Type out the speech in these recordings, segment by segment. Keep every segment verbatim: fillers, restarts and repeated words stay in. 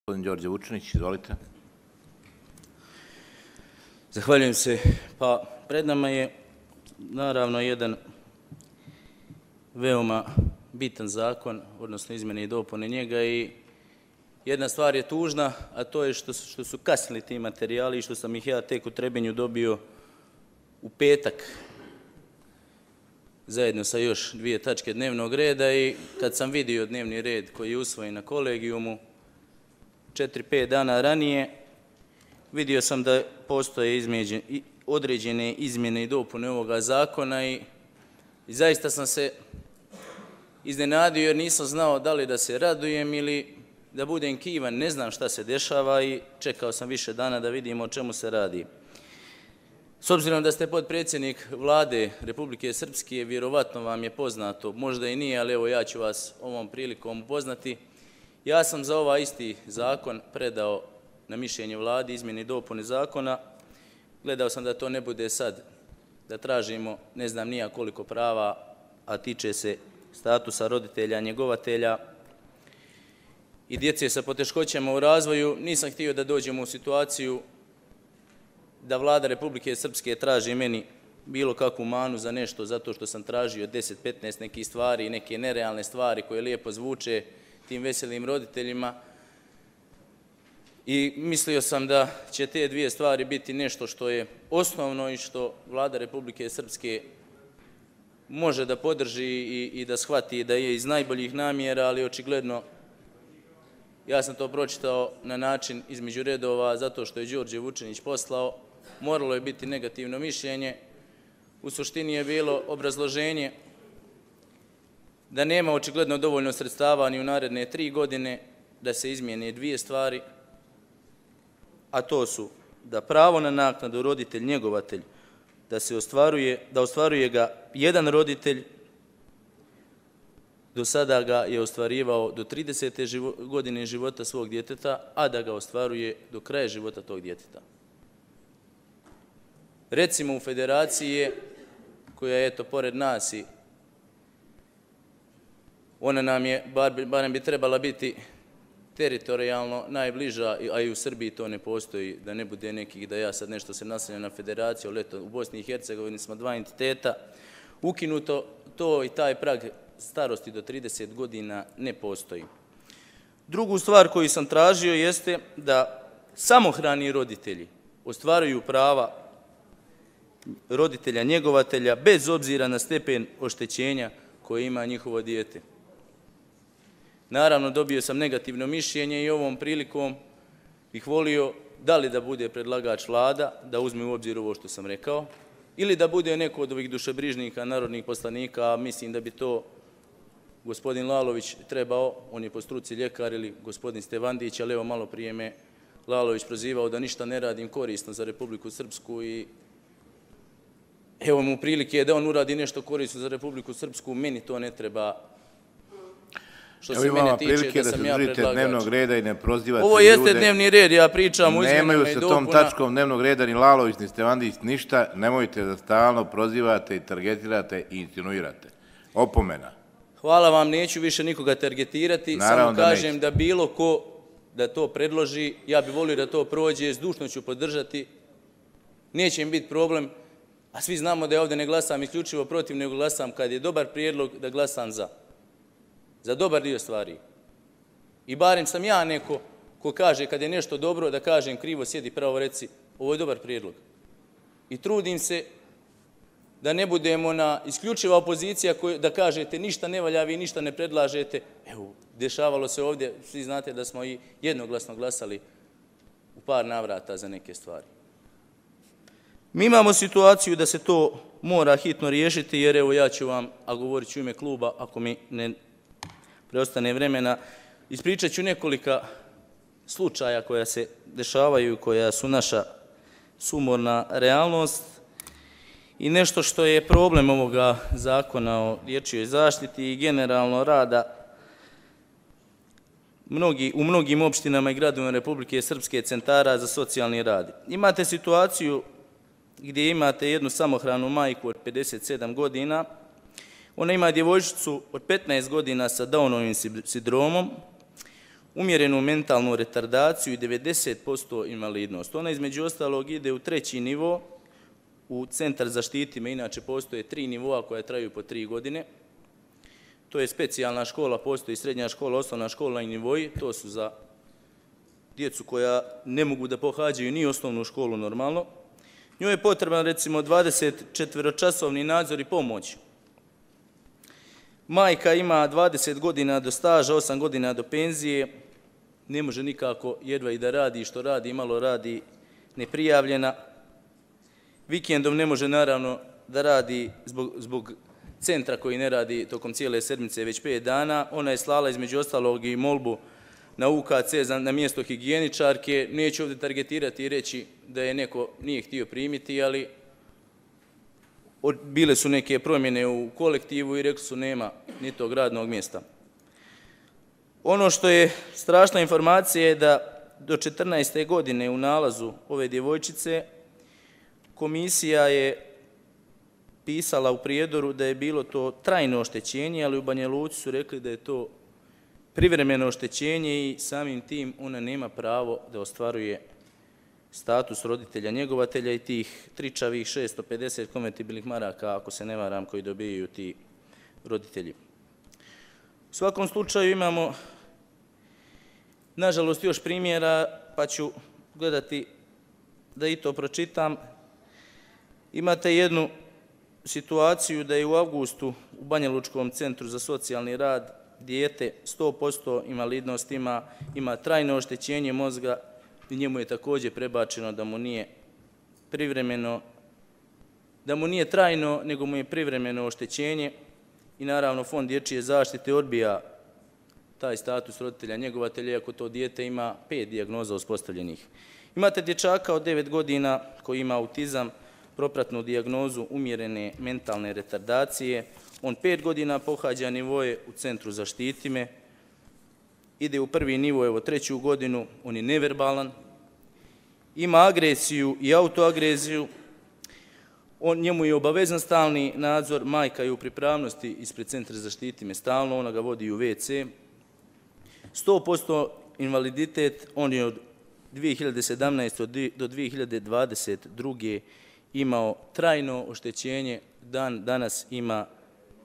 Gospodin Đorđe Vučinić, izvolite. Zahvaljujem se. Pa, pred nama je naravno jedan veoma bitan zakon, odnosno izmjene i dopune njega, i jedna stvar je tužna, a to je što su, što su kasnili ti materijali i što sam ih ja tek u Trebinju dobio u petak zajedno sa još dvije tačke dnevnog reda, i kad sam vidio dnevni red koji je usvojen na kolegijumu četiri pet dana ranije, vidio sam da postoje izmeđe, određene izmjene i dopune ovoga zakona i, i zaista sam se iznenadio jer nisam znao da li da se radujem ili da budem kivan. Ne znam šta se dešava i čekao sam više dana da vidimo o čemu se radi. S obzirom da ste potpredsjednik Vlade Republike Srpske, vjerovatno vam je poznato, možda i nije, ali evo ja ću vas ovom prilikom upoznati. Ja sam za ovaj isti zakon predao na mišljenje Vladi izmjene i dopune zakona. Gledao sam da to ne bude sad, da tražimo ne znam nija koliko prava, a tiče se statusa roditelja, njegovatelja i djece sa poteškoćama u razvoju. Nisam htio da dođemo u situaciju da Vlada Republike Srpske traži meni bilo kakvu manu za nešto, zato što sam tražio deset petnaest nekih stvari, neke nerealne stvari koje lijepo zvuče tim veselim roditeljima. I mislio sam da će te dvije stvari biti nešto što je osnovno i što Vlada Republike Srpske može da podrži i, i da shvati da je iz najboljih namjera, ali očigledno ja sam to pročitao na način između redova zato što je Đorđe Vučinić poslao. Moralo je biti negativno mišljenje. U suštini je bilo obrazloženje da nema očigledno dovoljno sredstava ni u naredne tri godine da se izmijene dvije stvari, a to su da pravo na naknadu roditelj njegovatelj da se ostvaruje, da ostvaruje ga jedan roditelj, do sada ga je ostvarivao do tridesete godine života svog djeteta, a da ga ostvaruje do kraja života tog djeteta. Recimo u federaciji je, koja je eto pored nas i ona nam je, bar, barem bi trebala biti teritorijalno najbliža, a i u Srbiji to ne postoji, da ne bude nekih da ja sad nešto se naslanjam na federaciju, ali eto u Bosni i Hercegovini smo dva entiteta, ukinuto to i taj prag starosti do trideset godina ne postoji. Drugu stvar koju sam tražio jeste da samohrani roditelji ostvaruju prava roditelja njegovatelja bez obzira na stepen oštećenja koje ima njihovo dijete. Naravno, dobio sam negativno mišljenje i ovom prilikom bih volio da li da bude predlagač Vlada, da uzme u obzir ovo što sam rekao, ili da bude neko od ovih dušebrižnika, narodnih poslanika, a mislim da bi to gospodin Lalović trebao, on je po struci ljekar, ili gospodin Stevandić, ali evo malo prije me Lalović prozivao da ništa ne radim korisno za Republiku Srpsku i evo mu prilike da on uradi nešto korisno za Republiku Srpsku, meni to ne treba. Što se mene tiče, da sam ja predlagač. Dnevnog reda i ne prozivate ljude. Ovo jeste dnevni red, ja pričam o izmjenama i dopuna. Nemaju se tom tačkom dnevnog reda ni Lalović, ni Stevandić, ništa. Nemojte da stalno prozivate i targetirate i insinuirate. Opomena. Hvala vam, neću više nikoga targetirati. Samo kažem da bilo ko da to predloži, ja bih volio da to prođe, zdušno ću podržati. Neće im biti problem, a svi znamo da ja ovdje ne glasam isključivo protiv, nego glasam kad je dobar prijedlog da glasam za. Za dobar dio stvari. I barem sam ja neko ko kaže kad je nešto dobro, da kažem krivo, sjedi pravo, reci, ovo je dobar prijedlog. I trudim se da ne budemo na isključiva opozicija da kažete ništa ne valja, vi ništa ne predlažete. Evo, dešavalo se ovdje, svi znate da smo i jednoglasno glasali u par navrata za neke stvari. Mi imamo situaciju da se to mora hitno riješiti, jer evo ja ću vam, a govorit ću ime kluba, ako mi ne preostane vremena, ispričat ću nekolika slučaja koja se dešavaju i koja su naša sumorna realnost i nešto što je problem ovoga zakona o dječjoj zaštiti i generalno rada mnogi, u mnogim opštinama i gradovima Republike Srpske centara za socijalni rad. Imate situaciju gdje imate jednu samohranu majku od pedeset sedam godina. Ona ima djevojčicu od petnaest godina sa Downovim sindromom. umjerenu mentalnu retardaciju i devedeset posto invalidnost. Ona između ostalog ide u treći nivo, u Centar Zaštiti me, inače postoje tri nivoa koja traju po tri godine. To je specijalna škola, postoji srednja škola, osnovna škola i nivoji, to su za djecu koja ne mogu da pohađaju ni osnovnu školu normalno. Njoj je potreban recimo dvadeset četvoročasovni nadzor i pomoć. Majka ima dvadeset godina do staža, osam godina do penzije, ne može nikako jedva i da radi, što radi, malo radi, neprijavljena. Vikendom ne može naravno da radi zbog, zbog centra koji ne radi tokom cijele sedmice već pet dana. Ona je slala između ostalog i molbu na U K C na mjesto higijeničarke. Neću ovdje targetirati i reći da je neko nije htio primiti, ali bile su neke promjene u kolektivu i rekli su nema ni tog radnog mjesta. Ono što je strašna informacija je da do četrnaeste godine u nalazu ove djevojčice komisija je pisala u prijedoru da je bilo to trajno oštećenje, ali u Banja Luci su rekli da je to privremeno oštećenje i samim tim ona nema pravo da ostvaruje status roditelja njegovatelja i tih tričavih šesto pedeset konvertibilnih maraka, ako se ne varam, koji dobijaju ti roditelji. U svakom slučaju imamo, nažalost, još primjera, pa ću gledati da i to pročitam. Imate jednu situaciju da je u avgustu u Banjalučkom centru za socijalni rad dijete sto posto invalidnost ima, ima trajno oštećenje mozga i njemu je također prebačeno da mu nije privremeno, da mu nije trajno, nego mu je privremeno oštećenje i naravno Fond dječje zaštite odbija taj status roditelja njegovatelja, iako to dijete ima pet dijagnoza uspostavljenih. Imate dječaka od devet godina koji ima autizam, propratnu dijagnozu umjerene mentalne retardacije. On pet godina pohađa nivoje u Centru Zaštiti me, ide u prvi nivo, evo treću godinu, on je neverbalan, ima agresiju i autoagreziju, on, njemu je obavezan stalni nadzor, majka je u pripravnosti ispred Centra Zaštiti me stalno, ona ga vodi u ve ce. sto posto invaliditet, on je od dvije hiljade sedamnaeste. do dvije hiljade dvadeset druge imao trajno oštećenje, dan danas ima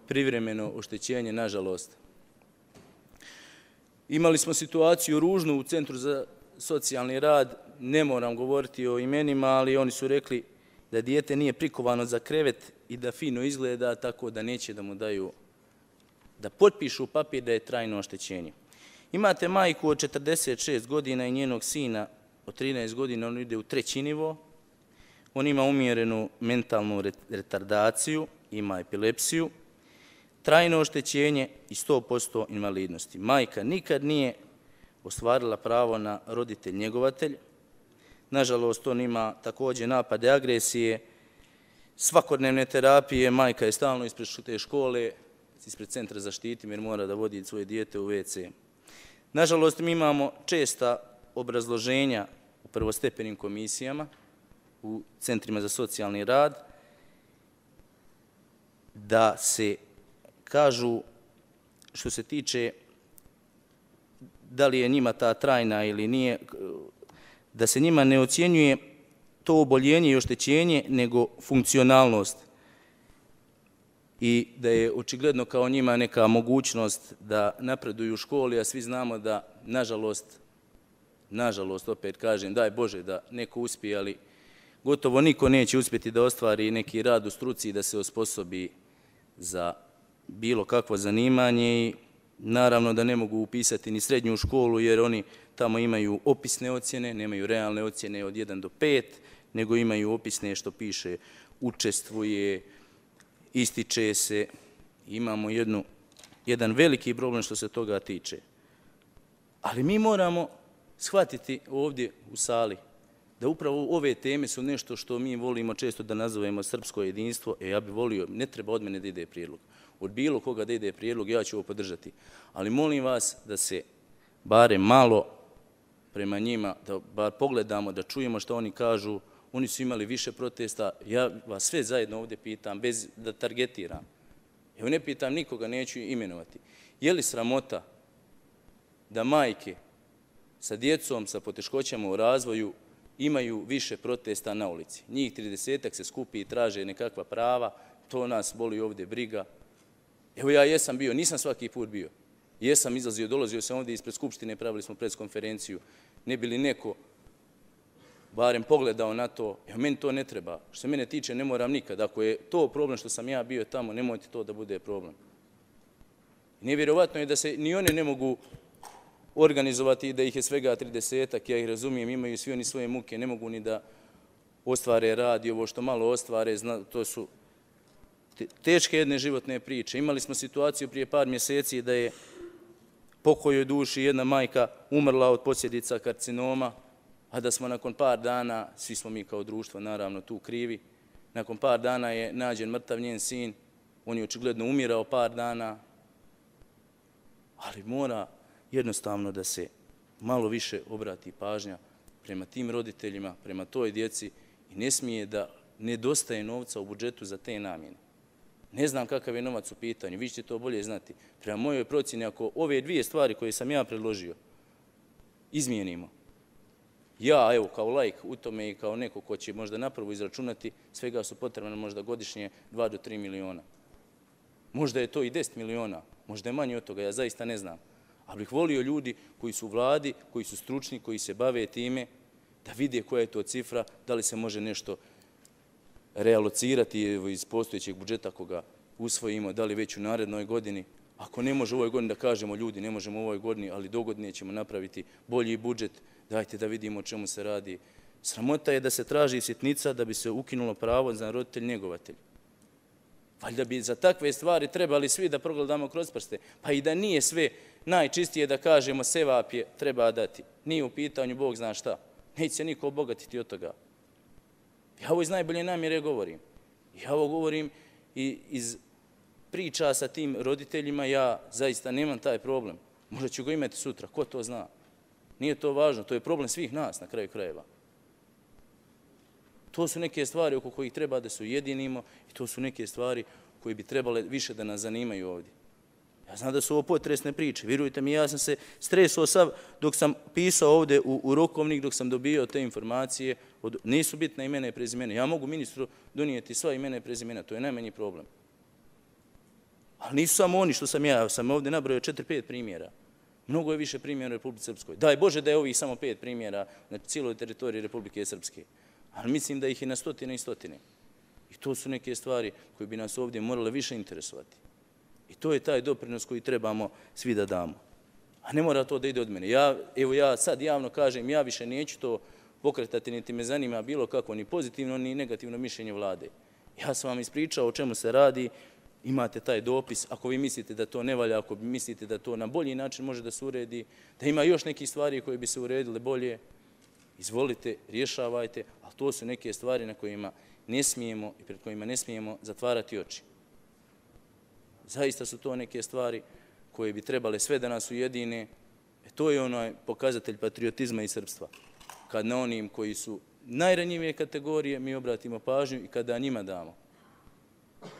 privremeno oštećenje, nažalost. Imali smo situaciju ružnu u Centru za socijalni rad, ne moram govoriti o imenima, ali oni su rekli da dijete nije prikovano za krevet i da fino izgleda, tako da neće da mu daju, da potpišu papir da je trajno oštećenje. Imate majku od četrdeset šest godina i njenog sina od trinaest godina, on ide u treći nivo, on ima umjerenu mentalnu retardaciju, ima epilepsiju, trajno oštećenje i sto posto invalidnosti. Majka nikad nije ostvarila pravo na roditelj njegovatelj. Nažalost, on ima također napade agresije, svakodnevne terapije, majka je stalno ispred te škole, ispred Centra Zaštiti jer mora da vodi svoje dijete u ve ce. Nažalost, mi imamo česta obrazloženja u prvostepenim komisijama, u centrima za socijalni rad, da se kažu, što se tiče da li je njima ta trajna ili nije, da se njima ne ocjenjuje to oboljenje i oštećenje, nego funkcionalnost. I da je očigledno kao njima neka mogućnost da napreduju u školi, a svi znamo da, nažalost, nažalost, opet kažem, daj Bože da neko uspije, ali gotovo niko neće uspjeti da ostvari neki rad u struci i da se osposobi za bilo kakvo zanimanje i naravno da ne mogu upisati ni srednju školu jer oni tamo imaju opisne ocjene, nemaju realne ocjene od jedan do pet, nego imaju opisne što piše učestvuje, ističe se. Imamo jednu, jedan veliki problem što se toga tiče. Ali mi moramo shvatiti ovdje u sali da upravo ove teme su nešto što mi volimo često da nazovemo srpsko jedinstvo. E, ja bih volio, ne treba od mene da ide prijedlog. Od bilo koga da ide prijedlog, ja ću ovo podržati. Ali molim vas da se bare malo prema njima, da bar pogledamo, da čujemo što oni kažu. Oni su imali više protesta. Ja vas sve zajedno ovdje pitam, bez da targetiram. Evo ne pitam nikoga, neću imenovati. Je li sramota da majke sa djecom, sa poteškoćama u razvoju, imaju više protesta na ulici. Njih tridesetak se skupi i traže nekakva prava, to nas boli ovdje briga. Evo ja jesam bio, nisam svaki put bio. Jesam izlazio, dolazio sam ovdje ispred Skupštine, pravili smo preskonferenciju. Ne bi li neko barem pogledao na to, evo meni to ne treba. Što se mene tiče, ne moram nikad. Ako je to problem što sam ja bio tamo, nemojte to da bude problem. Nevjerovatno je da se ni one ne mogu organizovati i da ih je svega tridesetak, ja ih razumijem, imaju svi oni svoje muke, ne mogu ni da ostvare rad i ovo što malo ostvare, to su teške jedne životne priče. Imali smo situaciju prije par mjeseci da je pokojoj duši jedna majka umrla od posljedica karcinoma, a da smo nakon par dana, svi smo mi kao društvo naravno tu krivi, nakon par dana je nađen mrtav njen sin, on je očigledno umirao par dana, ali mora jednostavno da se malo više obrati pažnja prema tim roditeljima, prema toj djeci i ne smije da nedostaje novca u budžetu za te namjene. Ne znam kakav je novac u pitanju, vi ćete to bolje znati. Prema mojoj procjeni, ako ove dvije stvari koje sam ja predložio izmijenimo, ja, evo, kao laik u tome i kao neko ko će možda napravo izračunati, svega su potrebne možda godišnje dva do tri miliona. Možda je to i deset miliona, možda je manje od toga, ja zaista ne znam. Ali bih volio ljudi koji su u vladi, koji su stručni, koji se bave time, da vide koja je to cifra, da li se može nešto realocirati iz postojećeg budžeta koga usvojimo, da li već u narednoj godini. Ako ne može u ovoj godini da kažemo ljudi, ne možemo u ovoj godini, ali dogodine ćemo napraviti bolji budžet, dajte da vidimo o čemu se radi. Sramota je da se traži sitnica da bi se ukinulo pravo za roditelj njegovatelj. Valjda bi za takve stvari trebali svi da progledamo kroz prste. Pa i da nije sve najčistije da kažemo sevap je treba dati. Nije u pitanju Bog zna šta. Neće se niko obogatiti od toga. Ja ovo iz najbolje namjere govorim. Ja ovo govorim i iz priča sa tim roditeljima. Ja zaista nemam taj problem. Možda ću ga imati sutra, ko to zna. Nije to važno, to je problem svih nas na kraju krajeva. To su neke stvari oko kojih treba da se ujedinimo i to su neke stvari koje bi trebale više da nas zanimaju ovdje. Ja znam da su ovo potresne priče. Vjerujte mi, ja sam se stresao sav dok sam pisao ovdje u, u rokovnik, dok sam dobio te informacije. Od, nisu bitne imena i prezimena. Ja mogu ministru donijeti sva imena i prezimena, to je najmanji problem. Ali nisu samo oni što sam ja, ja sam ovdje nabrojao četiri pet primjera. Mnogo je više primjera u Republike Srpskoj. Daj Bože da je ovih samo pet primjera na cijeloj teritoriji Republike Srpske. Ali mislim da ih je na stotine i stotine. I to su neke stvari koje bi nas ovdje morale više interesovati. I to je taj doprinos koji trebamo svi da damo. A ne mora to da ide od mene. Ja, evo ja sad javno kažem, ja više neću to pokretati, niti me zanima bilo kako, ni pozitivno, ni negativno mišljenje vlade. Ja sam vam ispričao o čemu se radi, imate taj dopis, ako vi mislite da to ne valja, ako mislite da to na bolji način može da se uredi, da ima još nekih stvari koje bi se uredile bolje, izvolite, rješavajte, ali to su neke stvari na kojima ne smijemo i pred kojima ne smijemo zatvarati oči. Zaista su to neke stvari koje bi trebale sve da nas ujedine. E to je onaj pokazatelj patriotizma i srpstva. Kad na onim koji su najranjivije kategorije mi obratimo pažnju i kada njima damo.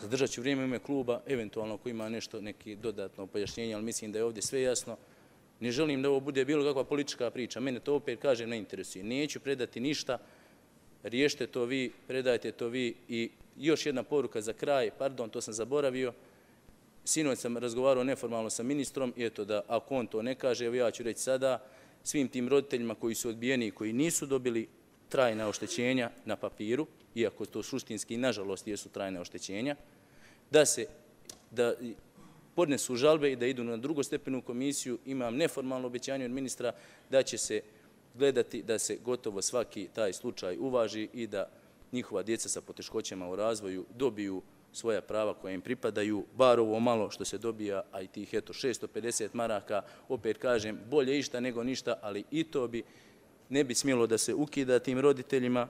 Zadržat ću vrijeme u ime kluba, eventualno ako ima nešto, neki dodatno pojašnjenje, ali mislim da je ovdje sve jasno. Ne želim da ovo bude bilo kakva politička priča. Mene to opet, kažem, ne interesuje. Neću predati ništa. Riješite to vi, predajte to vi. I još jedna poruka za kraj. Pardon, to sam zaboravio. Sinoć sam razgovarao neformalno sa ministrom i eto da ako on to ne kaže, evo ja ću reći sada, svim tim roditeljima koji su odbijeni i koji nisu dobili trajna oštećenja na papiru, iako to suštinski, nažalost, jesu trajne oštećenja, da se da podnesu žalbe i da idu na drugostepenu komisiju. Imam neformalno obećanje od ministra da će se gledati da se gotovo svaki taj slučaj uvaži i da njihova djeca sa poteškoćama u razvoju dobiju svoja prava koja im pripadaju, bar ovo malo što se dobija, a i tih eto šesto pedeset maraka, opet kažem, bolje išta nego ništa, ali i to bi ne bi smjelo da se ukida tim roditeljima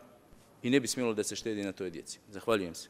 i ne bi smjelo da se štedi na toj djeci. Zahvaljujem se.